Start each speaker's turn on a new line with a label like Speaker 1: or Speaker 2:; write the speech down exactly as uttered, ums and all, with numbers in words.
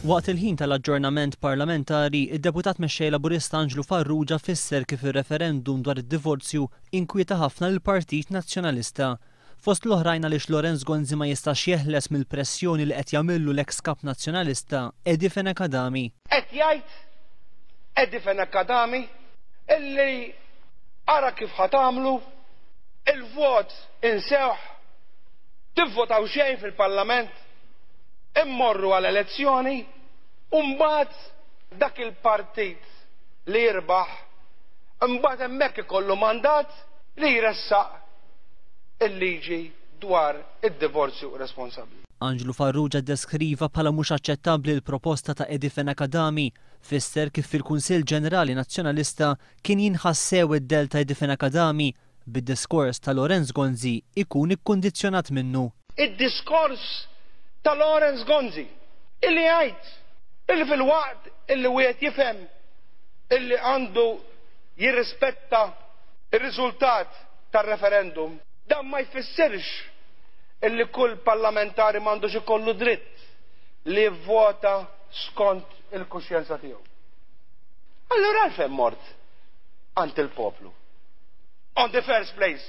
Speaker 1: Waqt il-ħin tal-aġġornament parlamentari, id-deputat mexxej Laburista Anġlu Farrugia fisser kif ir-referendum dwar id-divorzju inkwieta ħafna lill-Partit Nazzjonalista. Fost l-oħrajn għaliex Lawrence Gonzi ma jistax jeħles mill-pressjoni li qed jagħmillu l-eks kap Nazzjonalista Eddie Fenech Adami.
Speaker 2: Qed jgħid Eddie Fenech Adami illi ara kif ħa tagħmlu, il-vot insewh, tivvotaw xejn fil-Parlament, immorru għal elezzjoni u mbagħad dak il-partit li jirbaħ mbagħad hemmhekk ikollu mandat li jressaq il-liġi dwar id-divorzju responsabbli.
Speaker 1: Anġlu Farrugia deskriva bħala mhux aċċettabbli l-proposta ta' Eddie Fenech Adami, fisser kif fil-Kunsill Ġenerali Nazzjonalista kien jinħassew id-dell ta' Eddie Fenech Adami bid-diskors ta' Lawrence Gonzi ikun ikkundizzjonat minnu.
Speaker 2: Id-diskors ta' Lawrence Gonzi illi jgħid illi filwaqt illi wieħed jifhem illi għandu jirrispetta ir-riżultat tar-referendum, dan ma jfissirx illi kull parlamentari m'għandux ikollu dritt li jivvota skont il-kuxjenza tiegħu. Allura għalfejn mort għand il-poplu? On the first place.